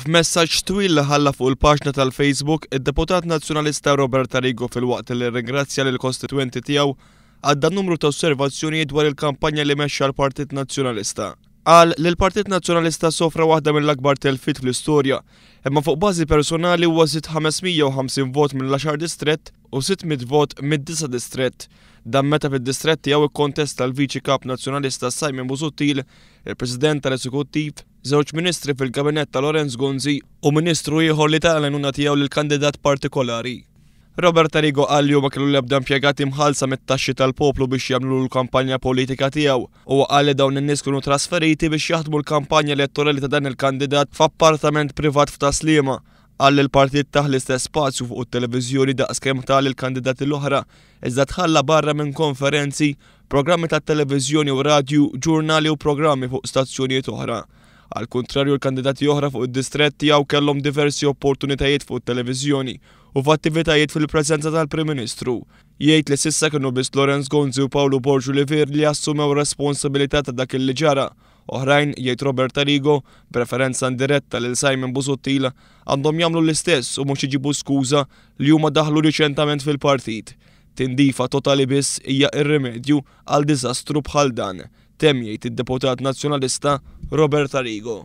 F'messaġġ twil li ħalla fuq il-paġna tal-Facebook, id-deputat Nazzjonalista Robert Arrigo filwaqt li rringrazzja lill-kostitwenti tiegħu għadda numru ta' osservazzjonijiet dwar il-kampanja li mexxa l-Partit Nazzjonalista. Qal li l-Partit Nazzjonalista sofra waħda mill-akbar telfiet fl-istorja, imma fuq bażi personali huwa żied 550 vot mill-għaxar distrett u 600 vot mid-disa' distrett. Dan meta fid-distrett tiegħu kkontesta l-Viċi Kap Nazzjonalista Simon Busuttil, il-President tal-Eżekuttiv, żewġ Ministri fil-Kabinett ta' Lawrence Gonzi u Ministru ieħor li ta l-għajnuna tiegħu lil kandidat partikolari. Robert Arrigo qal li hu ma kellu l-ebda impjegati mħallsa mit-taxxi tal-poplu biex jagħmlulu l-kampanja politika tiegħu. Huwa qal li dawn in-nies kienu trasferiti biex jaħdmu l-kampanja elettorali ta' dan il-kandidat f'appartament privat f'Tas-Sliema. Qal li l-partit tah l-istess spazju fuq it-televiżjoni daqs kemm ta lill-kandidati l-oħra, iżda tħalla barra minn konferenzi, programmi tat-televiżjoni u radju, ġurnali u programmi fuq stazzjonijiet oħra. Għall-kuntrarju l-kandidati oħra fuq id-distrett tiegħu kellhom diversi opportunitajiet fuq it-televiżjoni u f'attivitajiet fil-preżenza tal-Prim Ministru. Jgħid li s'issa kienu biss Lawrence Gonzi u Pawlu Borg Olivier li assumew responsabilità ta' dak li ġara. Oħrajn, jgħid Robert Arrigo, b'referenza indiretta lil Simon Busuttil, għandhom jagħmlu l-istess u mhux iġibu skuża li huma daħlu riċentament fil-partit. Tindifa totali biss hija r-rimedju għal diżastru bħal dan, temm jgħid id-deputat Nazzjonalista Robert Arrigo.